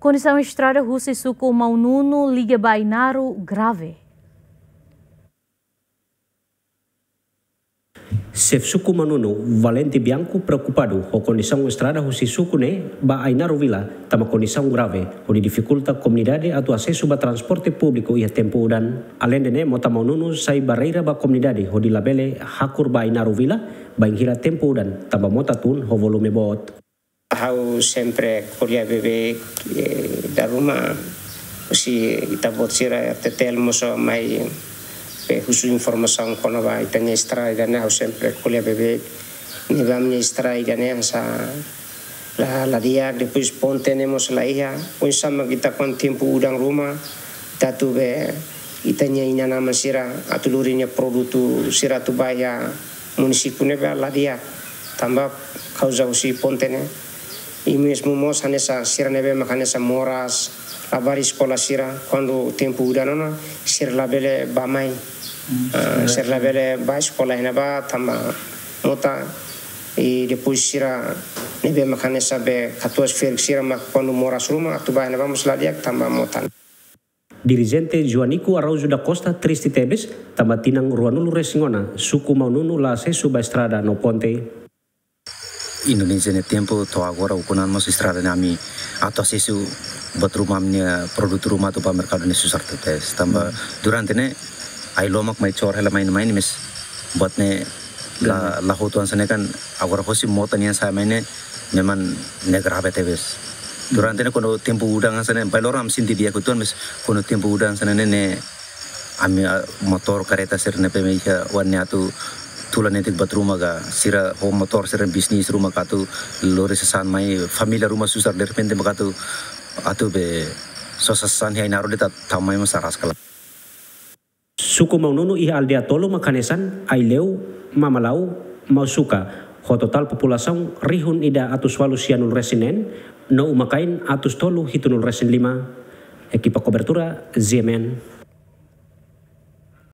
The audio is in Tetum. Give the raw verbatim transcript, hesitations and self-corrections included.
Kondisaun estrada husi suku Maununu liga ba Ainaro grave. Xefe suku Maununu, Valente Bianco, preokupadu ho kondisaun estrada husi suku ne'e ba Ainaro Vila, tanba kondisaun grave, hodi difikulta komunidade atu asesu ba transporte públiku iha tempu udan. Aleinde ne'e, mota Maununu sai barreira ba komunidade hodi labele hakur ba Ainaro Vila bainhira tempu udan, tanba mota tun ho volume boot. Ha'u sempre ko'alia beibeik, eh, dala ruma, husi ita-boot sira R T T L mós mai, eh, husu informasaun kona-ba ita-nia estrada ne'e, ha'u sempre ko'alia beibeik. Ne'ebé ami-nia estrada ne'e hanesan la, la di'ak, depois ponte ne'e mós la iha. Oinsá mak ita kuandu tempu udan ruma, ita atu be ita-nia inan-aman sira atu lori nia produtu sira atu ba iha munisípiu ne'ebá la di'ak, tanba kauza husi ponte ne'e. I mezmu mós hanesan sira ne'ebé mak hanesan moras, labarik eskola sira, kuandu tempu udan ona, sira labele bá mai. Hmm. Ah, sira labele bá eskola iha ne'ebá tanba mota, i depois sira ne'ebé mak hanesan be katuas-ferik sira mak kuandu moras ruma atu ba iha ne'ebá mós la di'ak tanba mota. Dirijente Joanico Araújo da Costa triste tebes, tanba tinan ruanulu-resin-ona, suku Maununu la asesu ba estrada no ponte. Indonézia nia tempu to'o agora ukun an mós estrada ne'e ami atu asesu buat ruma ami-nia produtu ruma atu ba merkadu ne'e susar tebes. Tanba durante ne'e ai-lomak mai cor hela mai ne'e mai ne'e mais buat ne'e la, la hotu hanesan ne'e kan agora hosi mota nian sai mai ne'e memang ne'e grave tebes. Durante ne'e kuandu tempu udan hanesan ne'e, bainhira ami sente di'ak uitoan mais kuandu tempu udan hanesan ne'e ne'e ami, ah, motór kareta sira ne'ebé mak iha oan ne'e atu tula netik buat ruma ka sira ho motór sira bisnis ruma ka atu lori sasán mai família ruma susar derrepente mak atu, atu be sosa sasán iha Ainaro de'it atu tau mai mós araska. Suku Maununu iha aldeia tolu mak hanesan Aileu, Mamalau, Mausuka, ho totál populasaun rihun ida atus ualu sianulu-resin-neen, no uma-kain atus tolu hitunulu-resin-lima. Ekipa kobertura, Z M N.